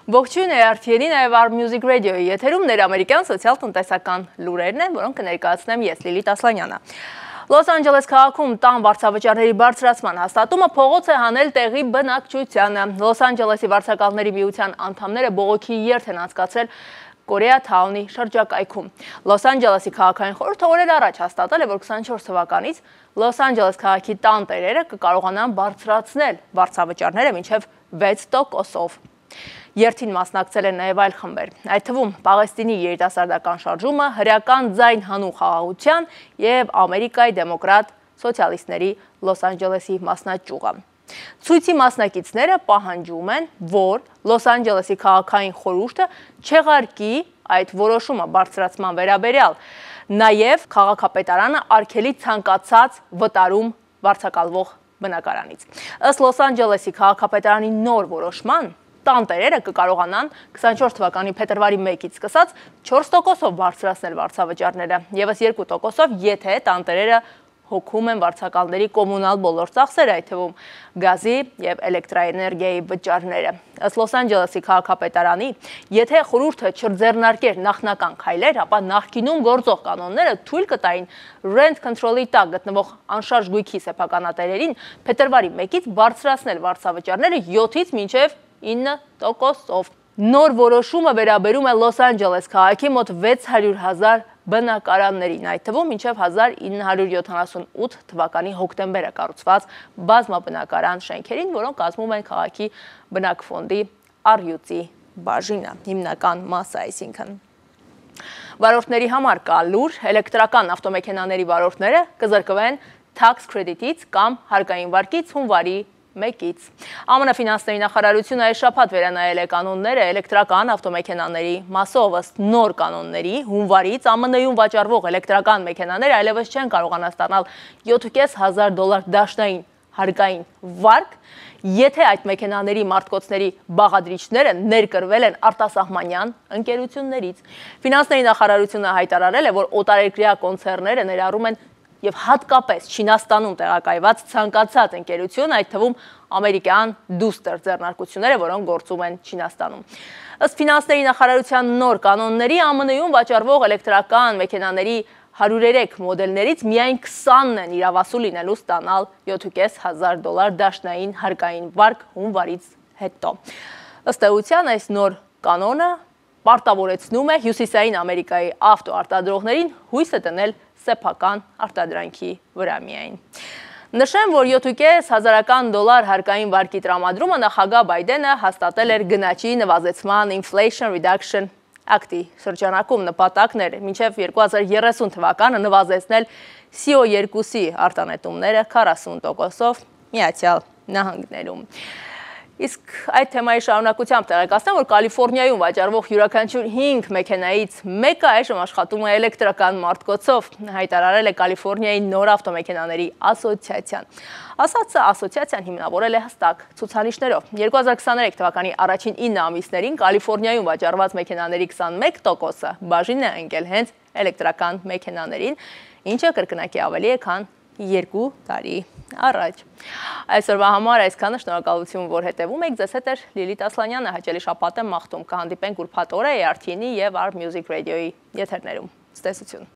Ողջույն RTN-ի, նաև Our Music Radio-ի եթերում ներամերիկյան սոցիալ-տնտեսական լուրերն են, որոնք կներկայացնեմ ես Լիլիթ Ասլանյանը։ Լոս Անջելես քաղաքում տան վարձավճարների բարձրացման հաստատումը փողոց է հանել տեղի բնակչությանը։ Լոս Անջելեսի վարձակալների միության անդամները բողոքի երթ են անցկացրել Կորեաթաունի շրջակայքում։ Լոս Անջելեսի քաղաքային խորհուրդը օրեր առաջ հաստատել է, որ 24 թվականից Լոս Անջելես քաղաքի տան տերերը կկարողանան բարձրացնել վարձավճարները մինչև 6%-ով։ Երթին մասնակցել են նաև այլ խմբեր, այդ թվում Պաղեստինի երիտասարդական շարժումը, հրեական ձայն հանուն խաղաղության և Ամերիկայի դեմոկրատ սոցիալիստների Լոս Անջելեսի մասնաճյուղը։ Ցույցի մասնակիցները պահանջում են, որ Լոս Անջելեսի քաղաքային խորհուրդը չեղարկի այդ որոշումը բարձրացման վերաբերյալ, նաև քաղաքապետարանը արգելի ցանկացած վտարում վարձակալվող բնակարանից։ Ըստ Լոս Անջելեսի քաղաքապետարանի նոր որոշման, տանտերերը կկարողանան 24 թվականի փետրվարի 1-ից սկսած 4%-ով բարձրացնել վարձավճարները, ևս 2%-ով, եթե տանտերերը հոգում են վարձակալների կոմունալ բոլոր ծախսերը, այդ թվում գազի և էլեկտրաէներգիայի վճարները։ Ըստ Լոս Անջելեսի քաղաքապետարանի, եթե խորհուրդը չձեռնարկեր նախնական քայլեր, ապա նախկինում գործող կանոնները թույլ կտային rent control-ի տակ գտնվող անշարժ գույքի սեփականատերերին փետրվարի 1-ից բարձրացնել վարձավճարները 7-ից մինչև 9%-ով։ Նոր որոշումը վերաբերում է Լոս Անջելես քաղաքի մոտ 600,000 բնակարաններին, այդ թվում մինչև 1978 թվականի հոկտեմբերը կառուցված բազմաբնակարան շենքերին, որոնք կազմում են քաղաքի բնակֆոնդի առյուծի բաժինը, հիմնական մասը այսինքն։ Վարորդների համար կա լուր, էլեկտրական ավտոմեքենաների վարորդները կզրկվեն tax credit-ից կամ հարկային վարկից հունվարի 1-ից։ ԱՄՆ ֆինանսների նախարարությունը այս շաբաթ վերանայել է կանոնները էլեկտրական ավտոմեքենաների մասով, ըստ նոր կանոնների հունվարից ԱՄՆ-ում վաճառվող էլեկտրական մեքենաները այլևս չեն կարողանա ստանալ $7,500 դաշնային հարկային վարկ, եթե այդ մեքենաների մարտկոցների բաղադրիչները ներկրվել են արտասահմանյան ընկերություններից։ Ֆինանսների նախարարությունը հայտարարել է, որ օտարերկրյա կոնցեռները ներառում են և հատկապես Չինաստանում տեղակայված ցանկացած ընկերություն, այդ թվում ամերիկյան դուստր ձեռնարկությունները, որոնք գործում են Չինաստանում։ Ըստ ֆինանսների նախարարության նոր կանոնների, ԱՄՆ-ում վաճառվող էլեկտրական մեքենաների 103 մոդելներից միայն 20-ն են իրավասու լինելու ստանալ $7,500 դաշնային հարկային վարկ հունվարից հետո։ Ըստ էության, այս նոր կանոնը պարտավորեցնում է Հյուսիսային Ամերիկայի ավտոարտադրողներին հույսը դնել սեփական արտադրանքի վրա միայն։ Նշեմ, որ $7,500 հարկային վարկի տրամադրումը նախագահ Բայդենը հաստատել էր գնաճի նվազեցման Inflation Reduction Act-ի շրջանակում, նպատակն էր մինչև 2030 թվականը նվազեցնել CO2-ի արտանետումները 40%-ով Միացյալ Նահանգներում։ Իսկ այդ թեմայի շարունակությամբ տեղեկացնեմ, որ Կալիֆոռնիայում վաճառվող յուրաքանչյուր 5 մեքենայից մեկը այժմ աշխատում է էլեկտրական մարտկոցով, հայտարարել է Կալիֆոռնիայի նոր ավտոմեքենաների ասոցիացիան։ Ասածը ասոցիացիան հիմնավորել է հստակ ցուցանիշներով։ 2023 թվականի առաջին 9 ամիսներին Կալիֆոռնիայում վաճառված մեքենաների 21%-ը բաժին է ընկել հենց էլեկտրական մեքենաներին, ինչը կրկնակի ավելի է, քան 2 տարի առաջ։ Այսօրվա համար այսքանը, շնորհակալություն, որ հետևում եք, ձեզ հետ էր Լիլիթ Ասլանյանը, հաճելի շաբաթ եմ մաղթում, կհանդիպենք ուրբաթ օրը RTN-ի և Our Music Radio-ի եթերներում։ Ցտեսություն։